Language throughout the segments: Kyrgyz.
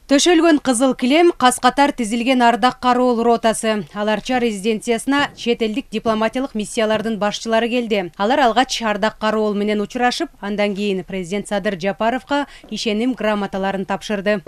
Төшөлгөн кызыл килем кас-катар тизилген ардак кароол ротасы. Аларча резиденциясына чет элдик дипломатиялык миссиялардын башчылары келди. Алар алгач ардак кароол менен учурашып, андан кийин президент Садыр Жапаровго ишеним грамоталарын тапшырды.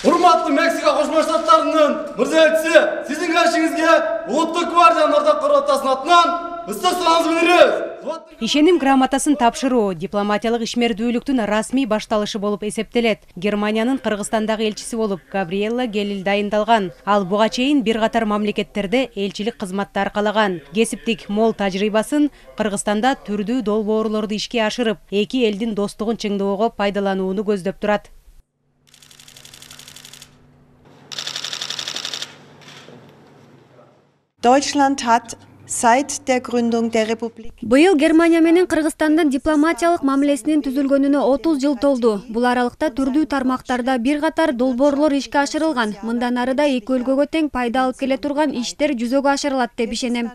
Урматтуу Мексика Кошмо Штаттарынын мырза элчиси, сиздин каршыңызга Улуттук гвардиянын ардак кароо ротасынын атынан ыстык саламыбызды билдиребиз. Ишеним грамотасын тапшыруу дипломатиялык ишмердүүлүктүн расмий башталышы болуп эсептелет. Германиянын Кыргызстандагы элчиси болуп Габриэлла Гелил дайындалган. Ал буга чейин бир катар мамлекеттерде элчилик кызматты аркалаган. Кесиптик мол тажрыйбасын Кыргызстанда түрдүү долбоорлорду ишке ашырып, эки элдин достугун чыңдоого пайдаланууну көздөп турат. Deutschland hat seit der Gründung der Republik Быйыл Германия менен Кыргызстандын дипломатиялык мамилесинин түзүлгөнүнө 30 жыл толду. Бул аралыкта түрдүү тармактарда бир катар долбоорлор ишке ашырылган. Мындан ары да эки өлкөгө тең пайда алып келе турган иштер жүзөгө ашырылат деп ишенем.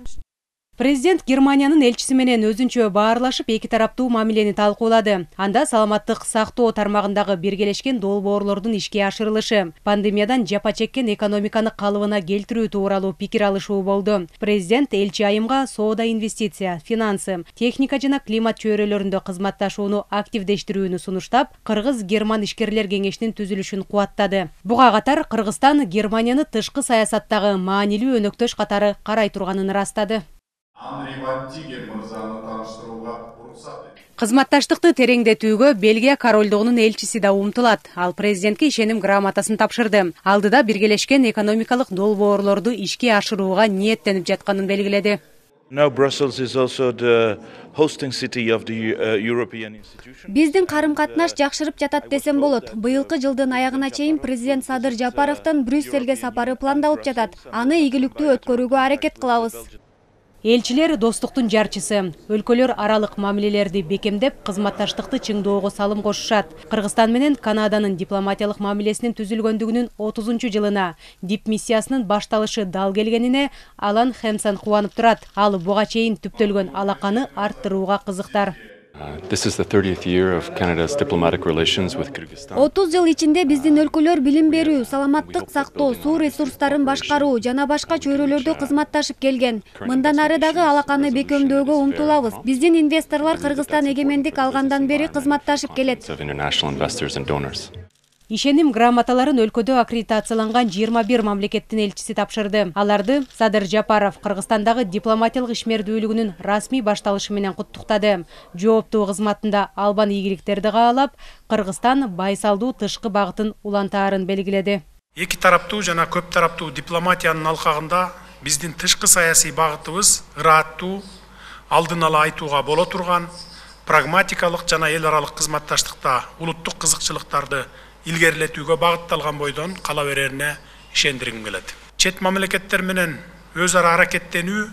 Президент Германиянын элчиси менен өзүнчө баарлашып, эки тараптуу мамилени талкуулады. Анда саламаттык сактоо тармагындагы биргелешкен долбоорлордун ишке ашырылышы, пандемиядан жапа чеккен экономиканы калыбына келтирүү тууралуу пикир алышуу болду. Президент элчи айымга соода, инвестиция, финансы, техника жана климат чөйрөлөрүндө кызматташууну активдештирүүнү сунуштап, Кыргыз-Герман ишкерлер кеңешинин түзүлүшүн кубаттады. Буга катар Кыргызстан Германияны тышкы саясаттагы маанилүү өнөктөш катары карай турганын ырастады. Кызматташтыкты тереңдетүүгө Бельгия королдугунун элчиси да умтулат. Ал президентке ишеним грамотасын тапшырды. Алдыда биргелешкен экономикалык долбоорлорду ишке ашырууга ниеттенип жатканын белгиледи. Биздин карым-катнаш жакшырып жатат десем болот. Быйылкы жылдын аягына чейин президент Садыр Жапаровдун Брюссельге сапары пландалып жатат. Аны ийгиликтүү өткөрүүгө аракет кылабыз. Элчилер достуктун жарчысы. Өлкөлөр аралык мамилелерди бекемдеп, кызматташтыкты чыңдоого салым кошушат. Кыргызстан менен Канаданын дипломатиялык мамилесинин түзүлгөндүгүнүн 30-жылына дип миссиясынын башталышы дал келгенине Алан Хемсон кубанып турат. Ал буга чейин түптөлгөн алаканы арттырууга кызыктар. 30 жыл ичинде биздин өлкөлөр билим берүү, саламаттык сактоо, суу ресурстарын башкаруу жана башка чөйрөлөрдө кызматташып келген. Мындан ары дагы алаканы бекемдөөгө умтулабыз. Биздин инвесторлор Кыргызстан эгемендик алгандан бери кызматташып келет. Ишеним грамоталарын өлкөдө аккредитацияланган 21 мамлекеттин элчиси тапшырды. Аларды Садыр Жапаров Кыргызстандагы дипломатиялык ишмердүүлүгүнүн расмий башталышы менен куттуктады. Жооптуу кызматында албан ийгиликтерди каалап, Кыргызстан байсалдуу тышкы багытын улантаарын белгиледи. Эки тараптуу жана көп тараптуу дипломатиянын алкагында биздин тышкы саясий багытыбыз ырааттуу, алдын ала айтууга боло турган, прагматикалык жана эл аралык кызматташтыкта улуттук кызыкчылыктарды илгерилетүүгө багытталган бойдон кала берерине ишендиргим келет. Чет мамлекеттер менен өз ара аракеттенүү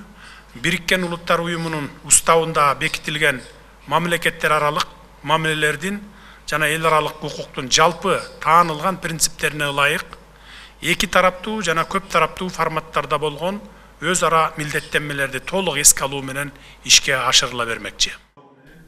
Бириккен Улуттар Уюмунун уставында бекитилген мамлекеттер аралык мамилелердин жана эл аралык укуктун жалпы таанылган принциптерине ылайык эки тараптуу жана көп тараптуу форматтарда болгон өз ара милдеттенмелерди толук эске алуу менен ишке ашырыла бермекчи.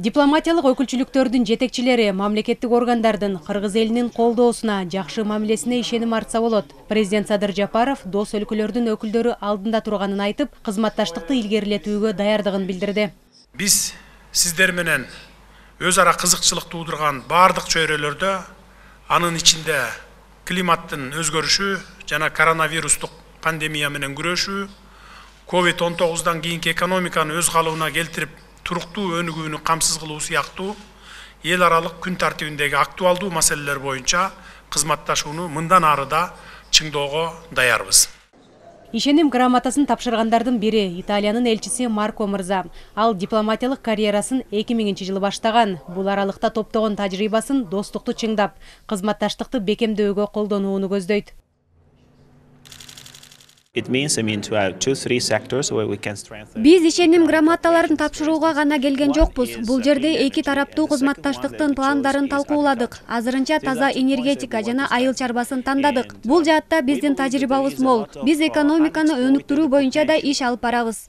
Дипломатиялык өкүлчүлүктөрдүн жетекчилери мамлекеттик органдардын Кыргыз элинин колдоосуна, жакшы мамилесине ишеним артса болот. Президент Садыр Жапаров дос өлкөлөрдүн өкүлдөрү алдында турганын айтып, кызматташтыкты илгерилетүүгө даярдыгын билдирди. Биз сиздер менен өз ара кызыкчылык туудурган бардык чөйрөлөрдө, анын ичинде климаттын өзгөрүшү жана коронавирустук пандемия менен күрөшүү, COVID-19 кийинки экономиканы өз калыбына келтирип туруктуу өнүгүүнү камсыз кылуу сыяктуу эл аралык күн тартибиндеги актуалдуу маселелер боюнча кызматташууну мындан ары да чыңдоого даярбыз. Ишеним грамотасын тапшыргандардын бири Италиянын элчиси Марко мырза. Ал дипломатиялык карьерасын 2000-жылы баштаган. Бул аралыкта топтогон тажрыйбасын достукту чыңдап, кызматташтыкты бекемдөөгө колдонууну көздөйт. Биз ишеним грамоталарын тапшырууга гана келген жокпуз. Бул жерде эки тараптуу кызматташтыктын пландарын талкууладык. Азырынча таза энергетика жана айыл чарбасын тандадык. Бул жаатта биздин тажрыйбабыз мол. Биз экономиканы өнүктүрүү боюнча да иш алып барабыз.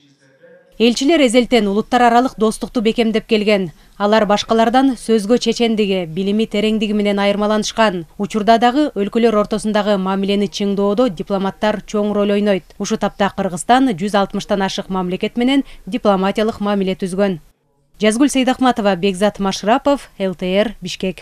Элчилер эзелтен улуттар аралык достукту бекемдеп келген. Алар башкалардан сөзгө чечендиги, билими тереңдиги менен айырмаланышкан. Учурда дагы өлкөлөр ортосундагы мамилени чыңдоодо дипломаттар чоң роль ойнойт. Ушу тапта Кыргызстан 160тан ашык мамлекет менен дипломатиялык мамиле түзгөн. Жазгүл Сейдахматова, Бекзат Машрапов, ЛТР, Бишкек.